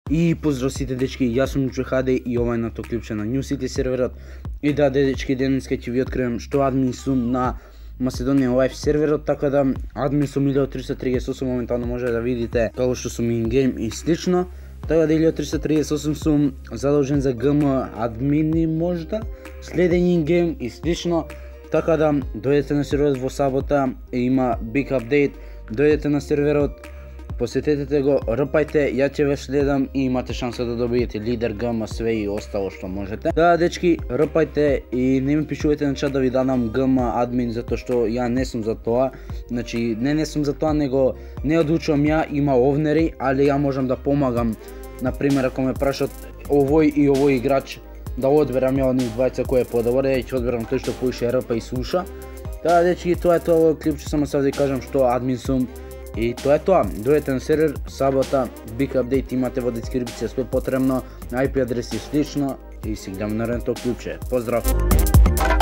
И поздрав сите дечки, јас сум Џухаде и ова е на то клипче на New City серверот. И да, дечки, денеска ќе ви откривам што админ сум на Macedonian Live серверот, така да админ сум 1338 моментално може да видите како што сум in-game и слично. Така да 1338 сум задолжен за ГМ админи можда, следен in-game и слично. Така да дојдете на серверот во сабота, има big update, дојдете на серверот, посетете го, рпајте, ја ќе ве следам и имате шанса да добиете лидер, ГМ, све и остало што можете. Да, дечки, рпајте и не ми пишувајте на чат да ви дадам ГМ админ, затоа што ја не сум за тоа. Значи, не сум за тоа, него не одлучувам ја, има овнери, али ја можам да помагам. Например, ако ме прашат овој и овој играч, да одберам ја од нив двајца кој е подобар, ја ќе одберам тој што поише рпа и слуша. Да, дечки, тоа е тоа клипче, само сега да кажам што админ сум. И тоа е тоа, дојдете на сервер, сабота, big update имате во дескрипција, све потребно, IP адрес и слично и си гледаме на ренток клипче. Поздрав!